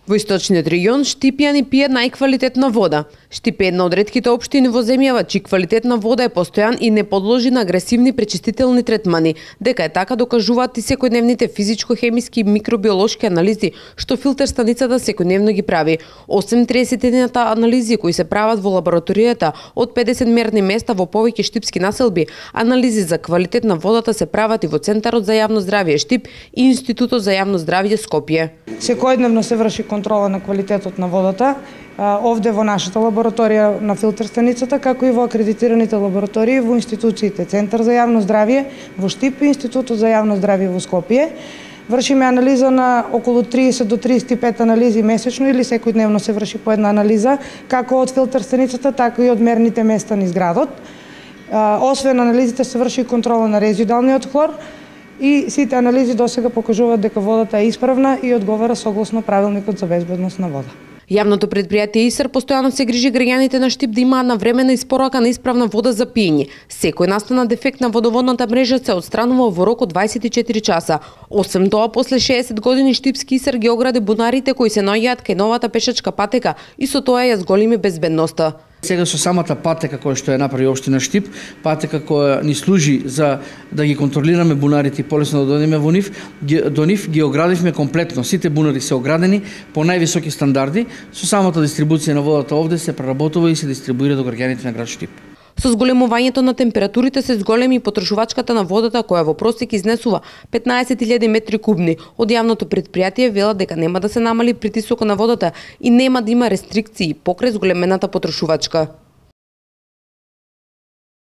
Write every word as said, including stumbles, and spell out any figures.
Во источниот регион Штипјани пијат најквалитетна вода. Штип е една од ретките општини во земјава чии квалитет на вода е постојан и не подложи на агресивни пречистителни третмани. Дека е така докажуваат и секојдневните физичко-хемиски и микробиолошки анализи што филтер станицата секојдневно ги прави. Осем триесет и еден анализи кои се прават во лабораторијата од педесет мерни места во повеќе штипски населби, анализи за квалитет на водата се прават и во Центарот за јавно здравје Штип и Институтот за јавно здравје Скопје. Секојдневно се врши контрола на квалитетот на водата, овде во нашата лабораторија на филтер станицата, како и во акредитираните лаборатории во институциите Центар за јавно здравје во Штип и Институтот за јавно здравје во Скопје. Вршиме анализа на околу триесет до триесет и пет анализи месечно или секојдневно се врши по една анализа, како од филтер станицата, така и од мерните места низ градот. Освен анализите се врши контрола на резидуалниот хлор и сите анализи досега покажуваат дека водата е исправна и одговара согласно правилникот за безбедност на вода. Јавното предпријатие ИСР постојано се грижи граѓаните на Штип да имаат навремена испорака на исправна вода за пиење. Секој настана дефект на водоводната мрежа се отстранува во рок од дваесет и четири часа. Освен тоа, после шеесет години Штипски ИСР ги огради бунарите кои се наоѓаат кај новата пешачка патека и со тоа ја зголеми безбедноста. Сега со самата патека која што ја направи општина Штип, патека која ни служи за да ги контролираме бунарите и полесно да дојдеме во нив, до нив ги оградивме комплетно. Сите бунари се оградени по највисоки стандарди. Со самата дистрибуција на водата овде се преработува и се дистрибуира до граѓаните на град Штип. Со зголемувањето на температурите се зголеми и потрошувачката на водата која во просек изнесува петнаесет илјади метри кубни. Од јавното предпријатие велат дека нема да се намали притисокот на водата и нема да има рестрикции покрај зголемената потрошувачка.